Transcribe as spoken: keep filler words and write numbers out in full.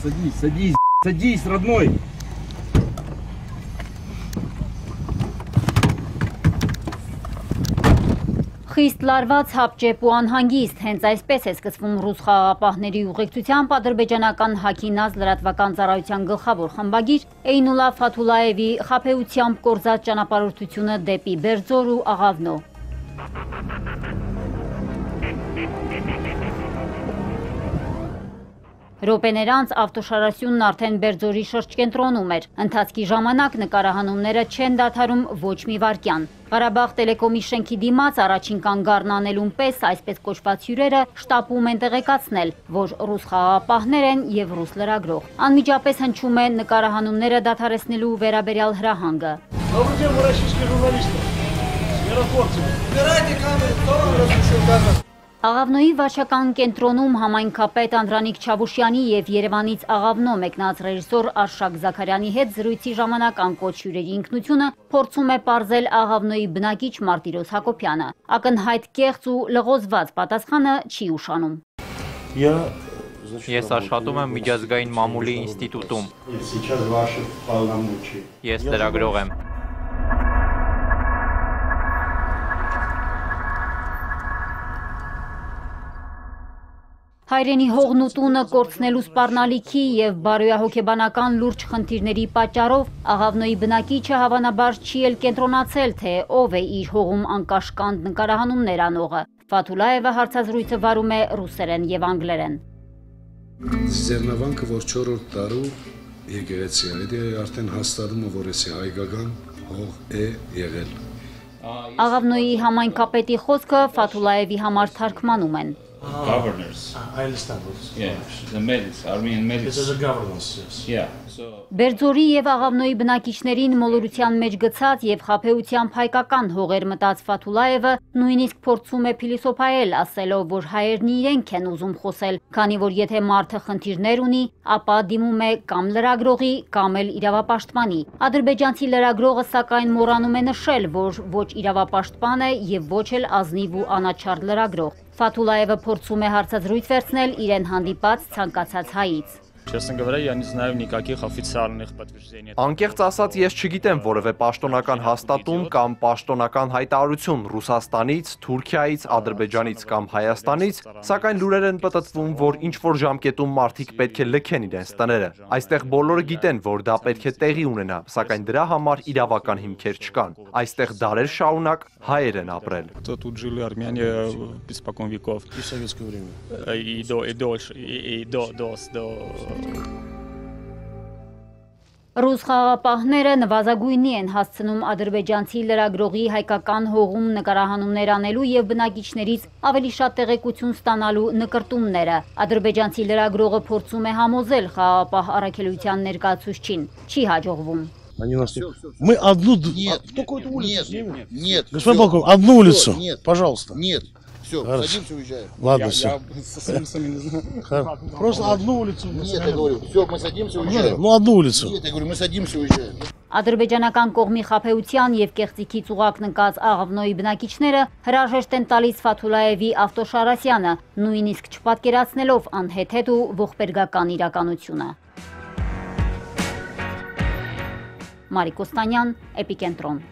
Садись, садись, садись, родной. Խիստ լարված հապճեպ ու անհանգիստ, հենց այսպես է սկսվում ռուս խաղաղապահների ուղեկցությամբ ադրբեջանական Հաքինազ լրատվական ծառայության գլխավոր խմբագիր Էյնուլա Ֆաթուլաևի խաբեությամբ կորզած ճանապարհորդությունը դեպի Բերձոր ու Աղավնո։ Րոպեներ անց ավտոշարասյունն արդեն Բերձորի շրջկենտրոնում էր։ Ընթացքի ժամանակ նկարահանումները չեն դադարում ոչ մի վայրկյան։ Ղարաբաղ տելեկոմի շենքի դիմաց առաջին կանգառն անելուն պես այսպես կոչված հյուրերը շտապում են տեղեկացնել, որ ռուս խաղաղապահներ են եւ ռուս լրագրող։ Անմիջապես հնչում է նկարահանումները դադարեցնելու վերաբերյալ հրահանգը։ Աղավնոյի վարչական կենտրոնում համայնքապետ Անդրանիկ Չավուշյանի և Երևանից Աղավնո մեկնած ռեժիսոր Արշակ Զաքարյանի հետ զրույցի ժամանակ անկոչ հյուրերի ինքնությունը փորձում է պարզել Աղավնոյի բնակիչ Մարտիրոս Հակոբյանը։ Ակնհայտ կեղծ ու լղոզված պատասխանը չի ուշանում։ Ես աշխատում եմ միջազգային մամուլի ինստիտուտում։ Ես լրագրող եմ։ Հայրենի հողն ու տունը կորցնելու սպառնալիքի և բարոյահոգեբանական լուրջ խնդիրների պատճառով Աղավնոյի բնակիչը հավանաբար չի էլ կենտրոնացել, թե ով է իր հողում անկաշկանդ նկարահանումներ անողը։ Ֆաթուլաևը հարցազրույցը վարում է ռուսերեն և անգլերեն։ Ձեռնավանքը, որ չորրորդ տարու եկեղեցի է, արդեն հաստատում է, որ էսի հայկական հող է եղել։ Աղավնոյի համայնքապետի խոսքը Ֆաթուլաևի համար թարգմանում են։ Governors. I understand what yeah, the medics, Armenian medics. This is a governance, yes. Yeah. So Բերձորի և Աղավնոյի բնակիչներին մոլորության մեջ գցած և խաբեությամբ հայկական հողեր մտած Ֆաթուլաևը նույնիսկ փորձում է փիլիսոփայել, ասելով, որ հայերն իրենք են ուզում խոսել, քանի որ եթե մարդը խնդիրներ ունի, ապա դիմում է կամ լրագրողի, կամ էլ իրավապաշտպանի։ Ադրբեջանցի լրագրողը սակայն մոռանում է նշել, որ ոչ իրավապաշտպան է և ոչ էլ ազնիվ ու անաչառ լրագրող։ Ֆաթուլաևը փորձում է հարցազրույց վերցնել իրեն հանդիպած ցանկացած հայից։ Честно говоря, я не знаю никаких официальных подтверждений. Անկեղծ ասած, ես չգիտեմ որևէ պաշտոնական հաստատում կամ պաշտոնական հայտարարություն Ռուսաստանից, Թուրքիայից, Ադրբեջանից կամ Հայաստանից, սակայն լուրեր են պտտվում, որ ինչ-որ ժամկետում մարդիկ պետք է լքեն իրենց տները։ Այստեղ բոլորը գիտեն, որ դա պետք է տեղի ունենա, սակայն դրա համար իրավական հիմքեր չկան։ Այստեղ դարեր շարունակ հայեր են ապրել։ Тут жили армяне испокон веков. И в советское время. И до, и дольше, и до, до, до Ռուս խաղաղապահները նվազագույնի են հասցնում ադրբեջանցի լրագրողի հայկական հողում նկարահանումներ անելու և բնակիչներից ավելի շատ տեղեկություն ստանալու նկրտումները։ Ադրբեջանցի лրագրողը փորձում է համոզել խաղաղապահ առաքելության ներկայացուցչին, չի հաջողվում։ Они нас... Мы одну... Нет, а, только эту улицу нет, нет, нет. Господин полковник, одну улицу, Нет, пожалуйста. Нет, все, Хорошо. садимся, уезжаем. Ладно, я, все. я со своими сами не знаю. Просто одну улицу. Нет, я говорю, все, мы садимся, уезжаем. Ну, одну улицу. Нет, я говорю, мы садимся, уезжаем. Ադրբեջանական կողմի խաբեության և կեղծիքից ուղղակն ընկած Աղավնոյի բնակիչները հրաժեշտ են տալիս Ֆաթուլաևի ավտոշարասյանը, նույնիսկ չպատկերացնելով անհեթեթ ու ողբերգական իրականությունը։ Մարիկ Օստանյան, Էպիկենտրոն։